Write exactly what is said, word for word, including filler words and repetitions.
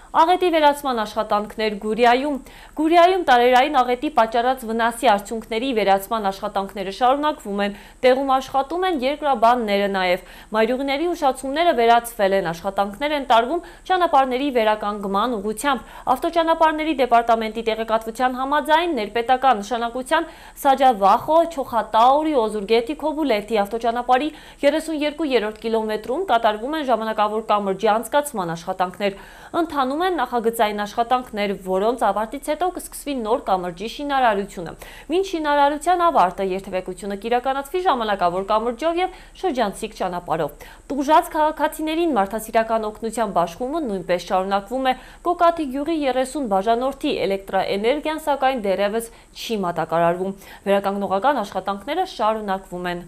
Աղետի վերացման աշխատանքներ Գուրիայում։ Գուրիայում տարերային աղետի պատճառած վնասի արդյունքների վերացման աշխատանքները շարունակվում են, տեղում աշխատում են երկրաբանները նաև։ Մայրուղիների ուշացումները վերացվել են, աշխատանքներ են տարվում ճանապարհների վերականգնման ուղղությամբ։ Ավտոճանապարհների դեպարտամենտի տեղեկատվության համաձայն ներպետական նշանակության Սաջավախո, Չոխատաուրի, Օզուրգետի, Քոբուլեթի ավտոճանապարհի երեսունյոթերորդ կիլոմետրում կատարվում են ժամանակավոր կամրջի անցկացման աշխատանքներ։ Ընթանում են նախագծային աշխատանքներ, որոնց ավարտից հետո կսկսվի նոր կամրջի շինարարությունը։ Մինչ շինարարության ավարտը երթևեկությունը կիրականացվի ժամանակավոր կամրջով եւ շրջանցիկ ճանապարհով։ Տուժած քաղաքացիներին մարդասիրական օգնության բաշխումը նույնպես շարունակվում է։ Կոկատի գյուղի երեսուն բաժանորդի էլեկտրաէներգիան սակայն դեռևս չի մատակարարվում։ Վերականգնողական աշխատանքները շարունակվում են։